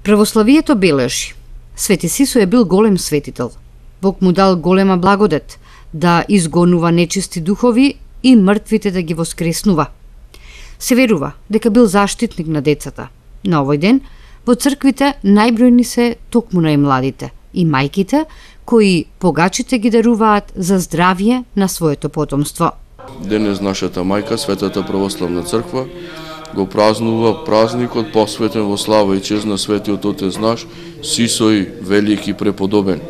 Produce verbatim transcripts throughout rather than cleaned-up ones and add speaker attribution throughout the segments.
Speaker 1: Православието бележи: Свети Сисој е бил голем светител. Бог му дал голема благодет да изгонува нечисти духови и мртвите да ги воскреснува. Се верува дека бил заштитник на децата. На овој ден во црквите најбројни се токму најмладите и мајките кои погачите ги даруваат за здравје на своето потомство.
Speaker 2: Денес нашата мајка, Светата православна црква, го празнува празникот посветен во слава и чест на светиот отец наш Сисој велики преподобен.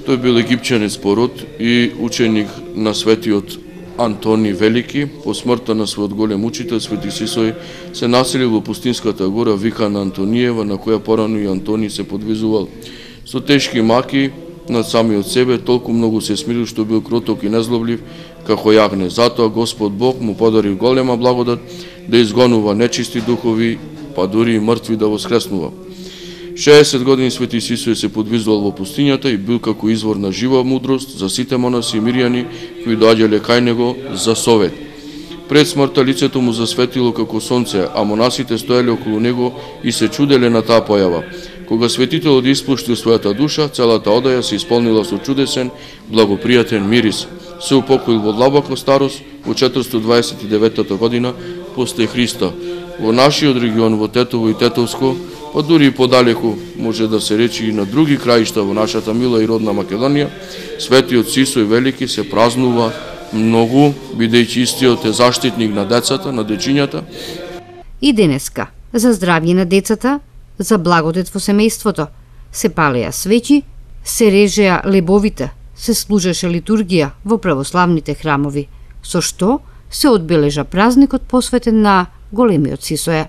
Speaker 2: Тој бил египчанец по род и ученик на светиот Антони Велики. По смртта на својот голем учител, Свети Сисој се населил во пустинската гора викана Антониева, на која порано и Антони се подвизувал. Со тешки маки над самиот себе, толку многу се смирил што бил кроток и незлоблив како јагне. Затоа Господ Бог му подарил голема благодат да изгонува нечисти духови, па дури и мртви да воскреснува. шеесет години Свети Сисој се подвизувал во пустињата и бил како извор на жива мудрост за сите монаси и мирјани кои доаѓале кај него за совет. Пред смртта лицето му засветило како сонце, а монасите стоеле околу него и се чуделе на таа појава. Кога светителот испуштил својата душа, целата одаја се исполнила со чудесен, благопријатен мирис. Се упокоил во длабока старост во четиристотини дваесет и деветата година после Христа. Во нашиот регион, во Тетово и Тетовско, па дури и подалеку, може да се речи и на други краишта во нашата мила и родна Македонија, Светиот Сисој Велики се празнува многу, бидејќи истиот е заштитник на децата, на дечињата.
Speaker 1: И денеска, за здравје на децата, за благодет во семејството, се палеа свечи, се режеа лебовите, се служеше литургија во православните храмови, со што се одбележа празникот посветен на големиот Сисоја.